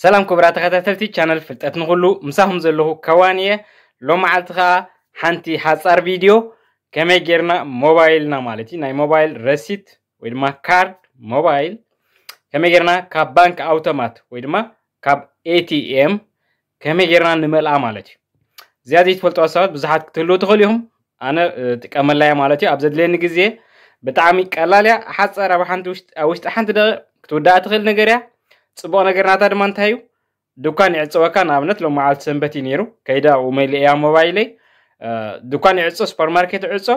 ሰላም ክቡራት ተኸታተልቲ ቻነል ፍልጠት ንኹሉ፣ ምሳኹም ዘለኹ ከዋን እየ። ሎም መዓልቲ ኸዓ ሓንቲ ሓጻር ቪድዮ ከመይ ጌርና ሞባይልና ማለት እዩ፣ ናይ ሞባይል ረሲት ወይ ድማ ካርድ ሞባይል ከመይ ጌርና ካብ ባንክ ኣውቶማት ወይ ድማ ካብ ኤ ቲ ኤም ከመይ ጌርና ንመልኣ ማለት እዩ። እዚኣ ዘይትፈልጥዋ ሰባት ብዙሓት ክትህልዉ ትኽእሉ ኢኹም። ኣነ፣ እ፣ ጥቀመላ እያ ማለት እዩ። ኣብ ዘድልየኒ ግዜ ብጣዕሚ ቀላል እያ። ሓጻር ኣብ ሓንቲ ውሽጢ፣ ኣብ ውሽጢ ሓንቲ ደቂቕ ክትውዳእ ትኽእል ነገር እያ። ጽቡቕ ነገር ናታ ድማ እንታይ እዩ? ድኳን ይዕጸወካ። ንኣብነት ሎም መዓልቲ ሰንበት እዩ ነይሩ። ከይደ ኣብኡ መሊኤያ ሞባይለይ። እ፣ ድኳን ይዕጾ፣ ሱፐርማርኬት ይዕጾ።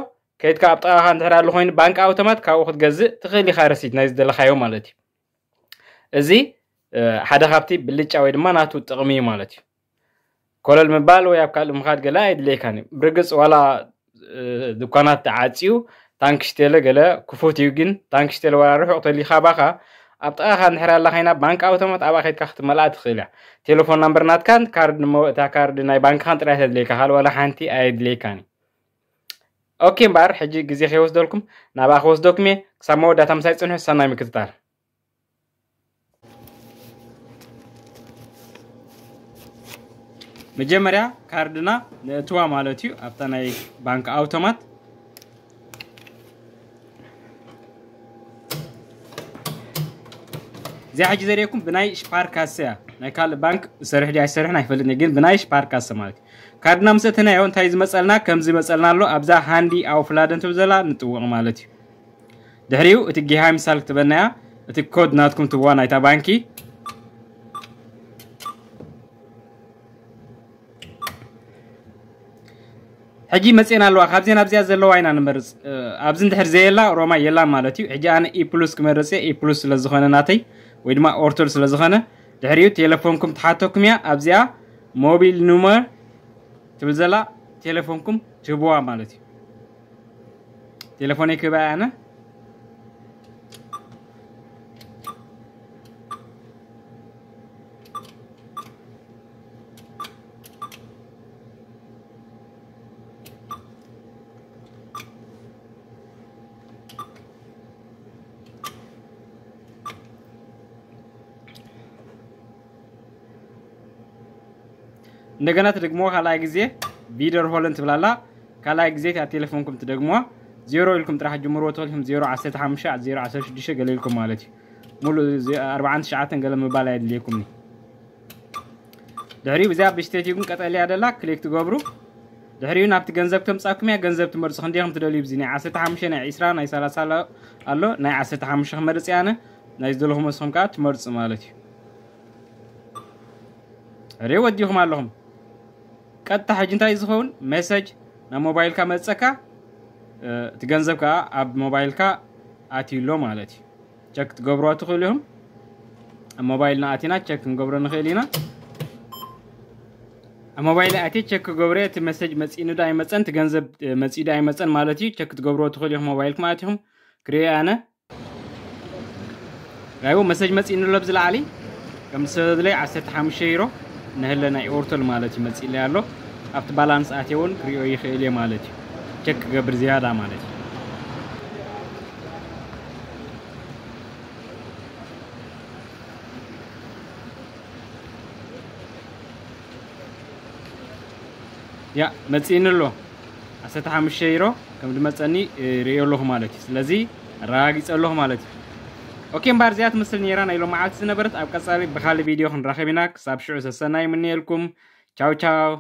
ከይድካ ኣብ ጥቓኻ እንድሕር ኣሎ ኮይኑ ባንክ ኣውቶማት ካብኡ ክትገዝእ ትኽእል ኢኻ ረሲት ናይ ዝደለኻዮ ማለት እዩ። እዚ፣ እ፣ ሓደ ካብቲ ብልጫ ወይ ድማ ናቱ ጥቕሚ እዩ ማለት እዩ። ኮለል ምባል ወይ ኣብ ካልእ ምኻድ ገለ ኣይድልየካን እዩ። ብርግጽ ዋላ፣ እ፣ ድኳናት ተዓጽዩ ታንክሽቴለ ገለ ክፉት እዩ፣ ግን ታንክሽቴለ ዋላ ርሑቕ ተልዩ ካባኻ ኣብ ጥቓኻ እንድሕር ኣላ ኮይና ባንክ ኣውቶማት ኣብኣ ከይድካ ክትመልኣ ትኽእል እያ። ቴሌፎን ናምበር ናትካን ካርድ ንመ-፣ እታ ካርድ ናይ ባንክኻን ጥራይ ተድልየካ፣ ካልእ ዋላ ሓንቲ ኣየድልየካን እዩ። ኦኬ እምበኣር ሕጂ ግዜ ከይወስደልኩም ናብኣ ክወስደኩም እየ። ክሳብ መወዳእታ ምሳይ ጽንሑ፣ ሰናይ ምክትታል። መጀመርያ ካርድና ነእትዋ ማለት እዩ ኣብታ ናይ ባንክ ኣውቶማት። እዚኣ ሕጂ ዘርእየኩም ብናይ ሽፓርካሰ እያ። ናይ ካልእ ባንክ ዝሰርሕ ድዩ ኣይሰርሕን ኣይፈልጥን፣ ግን ብናይ ሽፓርካሰ ማለት እዩ። ካርድና ምስ እተናዮ እንታይ ዝመጸልና? ከምዚ ይመጸልና ኣሎ። ኣብዛ ሃንዲ ኣውፍላደን ትብል ዘላ ንጥውቕ ማለት እዩ። ድሕሪኡ እቲ ጊሃይምሳል ክትበና እያ። እቲ ኮድ ናትኩም ትዋ ናይታ ባንኪ። ሕጂ መፅኤን ኣለዋ። ካብዚአን ኣብዚኣ ዘለዋ ኢና ንመርፅ። እ፣ ኣብዚ እንድሕር ዘየላ ሮማ የላን ማለት እዩ። ሕጂ ኣነ ኢ ፕሉስ ክመርፅ እየ። ኢ ፕሉስ ስለ ዝኾነ ናተይ ወይ ድማ ኦርቶል ስለ ዝኾነ፣ ድሕሪኡ ቴሌፎንኩም ትሓተኩም እያ። ኣብዚኣ ሞቢል ኑመር ትብል ዘላ ቴሌፎንኩም ትህብዋ ማለት እዩ። ቴሌፎነይ ክህባ እየ ኣነ። እንደገና ትደግሞ ካልኣይ ግዜ ቪደር ሆለን ትብላላ። ካልኣይ ግዜ እቲኣ ቴሌፎንኩም ትደግሞ። ዜሮ ኢልኩም ጥራሕ ጅምርዎ ተኽልኩም ዜሮ ዓሰርተ ሓሙሽተ ዜሮ ዓሰርተ ሽዱሽተ ገለ ኢልኩም ማለት እዩ። ሙሉ እዚ ኣርባዓን ትሽዓተን ገለ ምባል ኣየድልየኩም። ድሕሪኡ ብዚኣ ብሽተት ይጉን ቀጠልያ ደላ ክሊክ ትገብሩ። ድሕሪኡ ናብቲ ገንዘብ ከምጻኩም እያ። ገንዘብ ትመርጹ ክንደይ ከም ትደልዩ ብዚ ናይ ዓሰርተ ሓሙሽተ ናይ ዕስራ ናይ ሰላሳ ኣሎ። ኣሎ ናይ ዓሰርተ ሓሙሽተ ክመርጽ እያ ኣነ። ናይ ዝደለኹም መስኹም ከኣ ትመርጹ ማለት እዩ። ሬ ወዲኹም ኣለኹም። ቀጥታ ሕጂ እንታይ ዝኸውን መሰጅ ናብ ሞባይልካ መጸካ። እ፣ እቲ ገንዘብ ከኣ ኣብ ሞባይልካ ኣትዩ ኣሎ ማለት እዩ። ቸክ ትገብርዋ ትኽእሉ ኢኹም። ኣብ ሞባይልና ኣቲና ቸክ ክንገብሮ ንኽእል ኢና። ኣብ ሞባይል ኣትየ ቸክ ክገብሮ እቲ መሰጅ መጺእኒ ዶ ኣይመጸን፣ እቲ ገንዘብ፣ እ፣ መጺኡ ዶ ኣይመጸን ማለት እዩ። ቸክ ትገብርዎ ትኽእሉ ኢኹም። ሞባይልኩም ኣቲኹም ክርእዮ ኣነ። ራይዎ መሰጅ መጺእኒ ኣሎ ኣብዚ ላዕሊ። ከም ዝሰበብለይ ዓሰርተ ሓሙሽተ ዩሮ ንህለ ናይ ኦርቶል ማለት እዩ መጺእለይ ኣሎ። ኣብቲ ባላንስ ኣትየ እውን ክርእዮ ይኽእል እየ ማለት እዩ። ቸክ ክገብር ዝያዳ ማለት እዩ። ያ መጺእኒ ኣሎ። ዓሰርተ ሓሙሽተ ዩሮ ከም ዝመጸኒ፣ እ፣ ርእዮ ኣለኹ ማለት እዩ። ስለዚ ኣረጋጊጸ ኣለኹ ማለት እዩ። ኦኬ እምበኣር እዚኣ ትመስል ነይራ ናይ ሎማዓልቲ ዝነበረት። ኣብ ቀጻሊ ብኻልእ ቪድዮ ክንራኸብ ኢና። ክሳብ ሽዑ ሰሰናይ ይምነየልኩም። ቻው ቻው።